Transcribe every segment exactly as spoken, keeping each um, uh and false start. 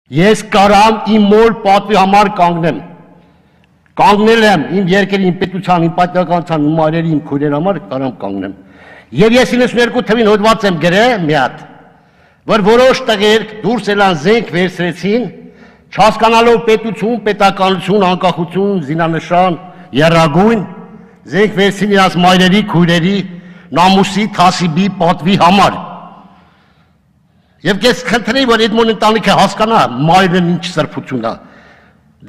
Ես կարամ իմ մոր պատվի համար կանգնեմ։ Կանգնել եմ իմ երկրի, իմ պետության, իմ պատմականության, իմ այրերի, իմ քույրերի համար կարամ կանգնեմ։ Եվ ես իննսուններկու թվին հոդված եմ գրել մի հատ, որ որոշ տղեր դուրս ելան զենք վերցրեցին, չհասկանալով պետություն, պետականություն, անկախություն, զինանշան, եռագույն, զենք վերցրին իրաց մայրերի, քույրերի, նամուսի, թասիբի, պատվի համար։ Եվ ես խնդրեի, որ այդ մոն ընտանիքը հասկանա մայրն ինչ սրբություն է։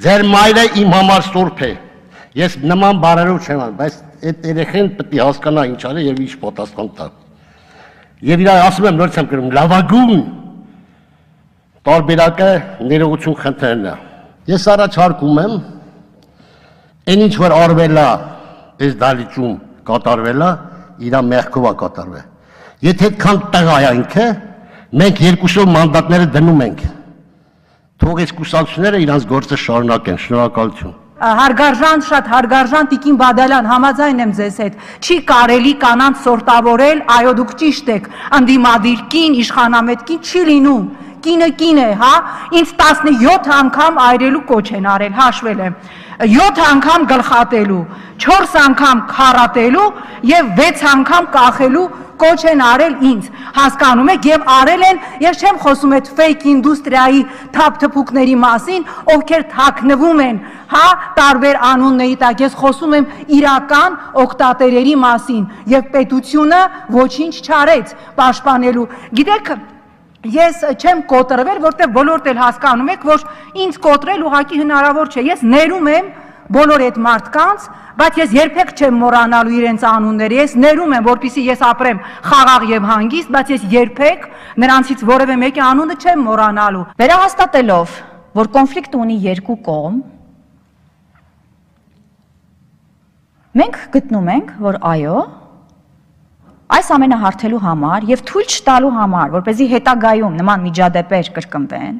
Ձեր մայրը իմ համար սուրբ է։ Ես նման բառերով չեմ անում, բայց այդ երեխեն պետք է հասկանա ինչ արի եւ ինչ պատասխան տա։ Եվ իրար ասում եմ նորից եմ գրում լավագույն տարբերակը ներողություն խնդրելն է։ Ես առաջարկում եմ այն ինչ որ արվել է այս դալիճում կատարվել է, իր մեղքով է կատարվել։ Եթե այդքան տղա է ինքը, մենք երկուսով մանդատները դնում ենք։ Թող այս կուսակցությունները իրանց գործը շարունակեն, շնորհակալություն։ Հարգարժան, շատ հարգարժան Տիկին Բադալյան, համաձայն եմ ձեզ հետ, չի կարելի կանանց սորտավորել, այո դուք ճիշտ եք, ընդդիմադիր կին, իշխանամետ կին չի լինում, կինը կին է, հա, ինձ տասնյոթ անգամ այրելու կոչ են արել, հաշվել եմ, յոթ անգամ գլխատելու, չորս անգամ քարատելու և վեց անգամ կախելու կոչ են արել ինձ, հասկանում եք և արել են, ես չեմ խոսում այդ ֆեյք ինդուստրիայի թափթփուկների մասին, ովքեր թաքնվում են, հա, տարբեր անունների տակ, ես խոսում եմ իրական օգտատերերի մասին և պետությունը ոչինչ չարեց պաշտպանելու, գիտեք, ես չեմ կոտրվել, որտեղ բոլորդ էլ հասկանում եք, որ ինձ կոտրել ուղղակի հնարավոր չէ, ես ներում եմ բոլոր այդ մարդկանց, բայց ես երբեք չեմ մոռանալու իրենց անունները, ես ներում եմ, որպեսզի ես ապրեմ խաղաղ եւ հանգիստ, բայց ես երբեք նրանցից որևէ մեկի անունը չեմ մոռանալու։ Վերահաստատելով, որ կոնֆլիկտը ունի երկու կողմ, մենք գտնում ենք, որ այո, այս ամենը հարթելու համար եւ թույլ չտալու համար, որպեսզի հետագայում նման միջադեպեր կրկնվեն,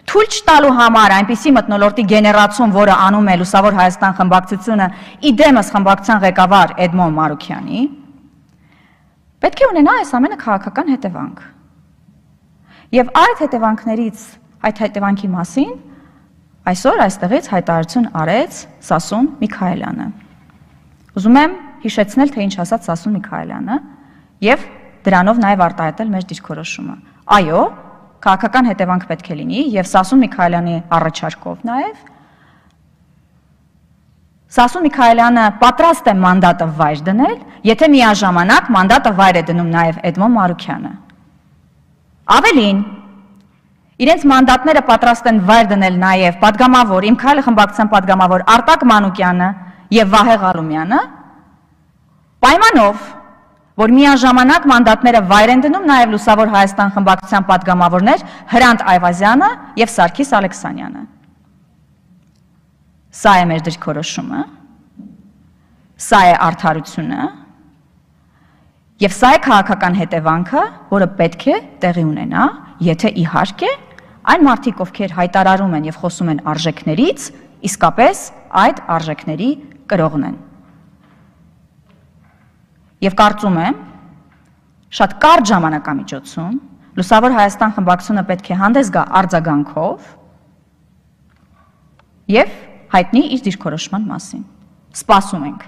թույլ չտալու համար այնպիսի մթնոլորտի գեներացում, որը անում է Լուսավոր Հայաստան խմբակցությունը, իդեմս խմբակցության ղեկավար Էդմոն Մարուքյանի, պետք է ունենա այս ամենը քաղաքական հետևանք։ Եվ այդ հետևանքներից, այդ հետևանքի մասին այսօր այստեղից հայտարարություն արեց Սասուն Միքայելյանը։ Ուզում եմ հիշեցնել, թե ինչ ասաց Սասուն Միքայելյանը եւ դրանով նաեւ արտահայտել մեր դիրքորոշումը։ Այո, քաղաքական հետևանք պետք է լինի եւ Սասուն Միքայելյանի առաջարկով նաեւ Սասուն Միքայելյանը պատրաստ է մանդատը վայր դնել, եթե միաժամանակ մանդատը վայր է դնում նաեւ Էդմոն Մարուքյանը։ Ավելին, իրենց մանդատները պատրաստ են վայր դնել նաեւ падգամավոր, Իմ քայլը խմբակցության падգամավոր Արտակ Մանուկյանը եւ Վահե Ղալումյանը, պայմանով, որ միաժամանակ մանդատները վայր են դնում նաև Լուսավոր Հայաստան խմբակցության падգամավորներ Հրանտ Այվազյանը եւ Սարգիս Ալեքսանյանը։ Սա է մեր դիրքորոշումը, սա է արդարությունը եւ սա է քաղաքական հետևանքը, որը պետք է տեղի ունենա, եթե իհարկե այն մարդիկ, ովքեր հայտարարում են եւ խոսում են արժեքներից, իսկապես այդ արժեքների կրողն են։ Եվ կարծում եմ, շատ կարճ ժամանակամիջոցում Լուսավոր Հայաստան խմբակցությունը պետք է հանդես գա արձագանքով եւ հայտնի իր դիրքորոշման մասին։ Սպասում ենք։